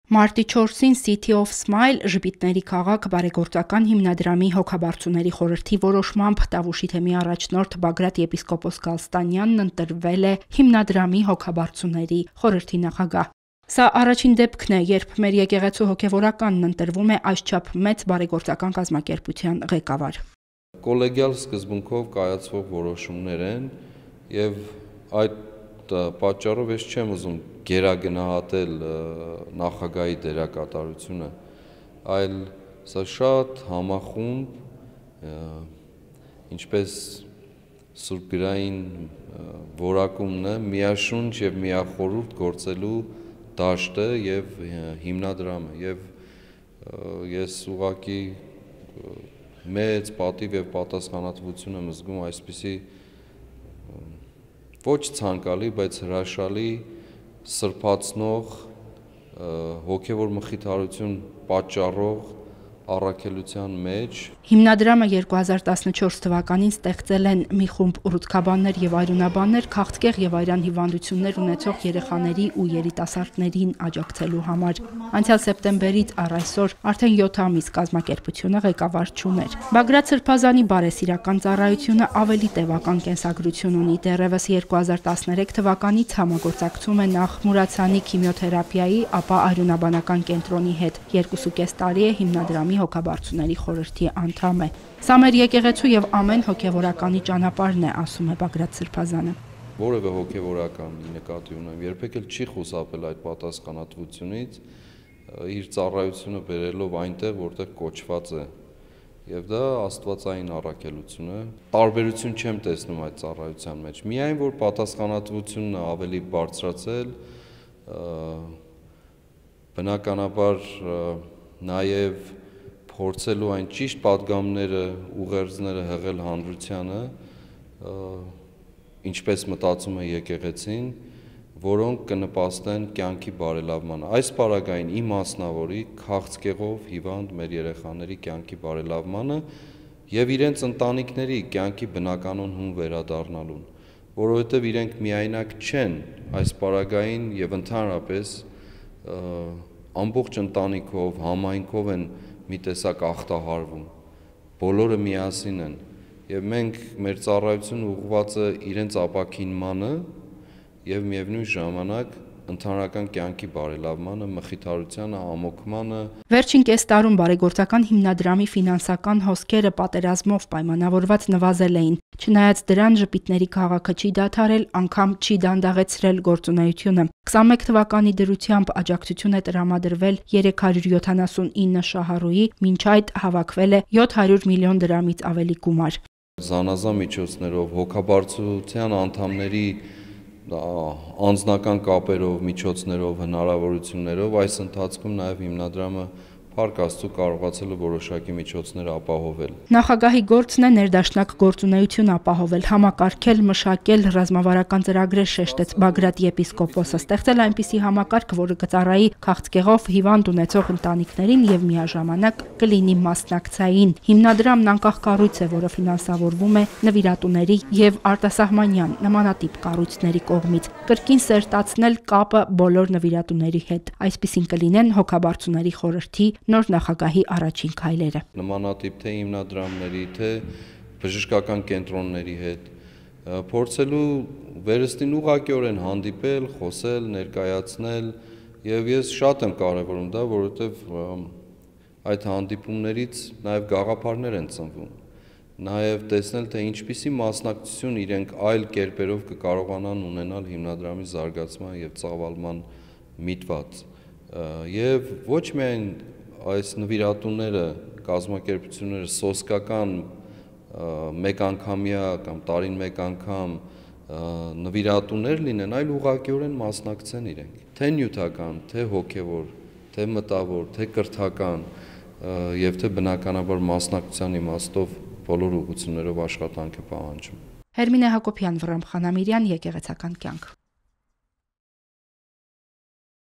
Մարտի 4-ին City of Smile ժպիտների քաղաք բարեգործական հիմնադրամի հոգաբարձուների խորհրդի որոշմամբ Տավուշի թեմի առաջնորդ Բագրատ եպիսկոպոս Գալստանյանն ընտրվել է հիմնադրամի հոգաբարձուների խորհրդի նախագահ։ Սա առաջին դեպքն է, երբ մեր եկեղեցու հոգևորականն ընտրվում է այսչափ մեծ բարեգործական կազմակերպության ղեկավար։ Կոլեգիալ սկզբունքով կայացվող որոշումներ են եւ այդ պատճառով ես չեմ ուզում գերագնահատել նախագահի դերակատարությունը, այլ սա շատ համախումբ, ինչպես սուրբգրային որակումն է, միաշունչ եւ միախորհուրդ գործելու դաշտը եւ հիմնադրամը եւ ես ուղղակի մեծ պատիվ եւ պատասխանատվություն եմ զգում այսպիսի ոչ ցանկալի, բայց հրաշալի սրբացնող հոգևոր մխիթարություն պատճառող առաքելության մեջ։ Հիմնադրամը 2014 թվականին ստեղծել են մի խումբ ուռուցքաբաններ եւ այրունաբաններ քաղցկեղ եւ այրան հիվանդություններ ունեցող երեխաների ու երիտասարդներին աջակցելու համար։ Անցյալ սեպտեմբերից առ այսօր արդեն 7 ամիս կազմակերպությունը ղեկավար չուներ։ Բագրատ Սրբազանի բարեսիրական ծառայությունը ավելի տևական կենսագրություն ունի։ Դեռևս 2013 թվականից համագործակցում է նախ Մուրացյանի քիմիոթերապիայի, ապա այրունաբանական կենտրոնի հետ։ 2.5 տարի է հիմնադրամի հոգաբարձուների խորհրդի անդամ է։ Սա մեր եկեղեցու եւ ամեն հոգևորականի ճանապարհն է, ասում է Բագրատ Սրբազանը։ Որևէ հոգևորականի նկատի ունեմ, երբեք էլ չի խուսափել այդ պատասխանատվությունից, իր ծառայությունը բերելով այնտեղ, որտեղ կոչված է։ Եվ դա աստվածային առաքելություն է։ Տարբերություն չեմ տեսնում այդ ծառայության մեջ։ Միայն որ պատասխանատվությունն ավելի բարձրացել, բնականաբար նաև փորձելու այն ճիշտ պատգամները, ուղերձները հղել հանրությանը, ինչպես մտածում է եկեղեցին, որոնք կնպաստեն կյանքի բարելավմանը։ Այս պարագային իմ մասնավորի քաղցկեղով հիվանդ մեր երեխաների կյանքի բարելավմանը եւ իրենց ընտանիքների կյանքի բնականon հուն վերադառնալուն, որովհետեւ իրենք միայնակ չեն այս պարագային եւ ընդհանրապես ամբողջ ընտանիքով, համայնքով են մի տեսակ ախտահարվում, բոլորը միասին են եւ մենք մեր ծառայությունը ուղղված է իրենց ապաքինմանը եւ միևնույն ժամանակ ընդհանրական կյանքի բարելավմանը, մխիթարությանը, ամոքմանը։ Վերջին կես տարում բարեգործական հիմնադրամի ֆինանսական հոսքերը պատերազմով պայմանավորված նվազել էին։ Չնայած դրան ժպիտների քաղաքը չի դադարել, անգամ չի դանդաղեցրել գործունեությունը։ 21 թվականի դրությամբ աջակցություն է տրամադրվել 379 շահառուի, մինչ այդ հավաքվել է 700 միլիոն դրամից ավելի գումար։ Զանազան միջոցներով հոգաբարձության անդամների անձնական կապերով, միջոցներով, հնարավորություններով այս ընթացքում նաև հիմնադրամը Փառք Աստծո կարողացել է որոշակի միջոցներ ապահովել։ Նախագահի գործն է ներդաշնակ գործունեություն ապահովել, համակարգել, մշակել ռազմավարական ծրագրեր, շեշտեց Բագրատ եպիսկոպոսը, ստեղծել այնպիսի համակարգ, որը կծառայի քաղցկեղով հիվանդ ունեցող ընտանիքներին եւ միաժամանակ կլինի մասնակցային։ Հիմնադրամն անկախ կառույց է, որը ֆինանսավորվում է նվիրատուների եւ արտասահմանյան նմանատիպ կառույցների կողմից։ Կրկին սերտացնել կապը բոլոր նվիրատուների հետ։ Այսպիսին կլինեն հոգաբարձուների խորհրդի նոր նախագահի առաջին քայլերը։ Նմանատիպ թե հիմնադրամների, թե բժշկական կենտրոնների հետ փորձելու վերստին ուղղակիորեն հանդիպել, խոսել, ներկայացնել եւ ես շատ եմ կարեւորում դա, որովհետեւ այդ հանդիպումներից նաեւ գաղափարներ են ծնվում։ Նաեւ տեսնել, թե ինչպիսի մասնակցություն իրենք այլ կերպերով կկարողանան ունենալ հիմնադրամի զարգացման եւ ծավալման միտված։ Եվ ոչ միայն այս նվիրատուները, կազմակերպությունները սոսկական մեկ անգամյա կամ տարին մեկ անգամ նվիրատուներ լինեն, այլ ուղղակիորեն մասնակցեն իրենք, թե նյութական, թե հոգևոր, թե մտավոր, թե կրթական եւ թե բնականաբար մասնակցության իմաստով բոլոր ուղղություններով աշխատանք է պահանջում։ Հերմինե Հակոբյան, Վռամ Խանամիրյան, Եկեղեցական կյանք։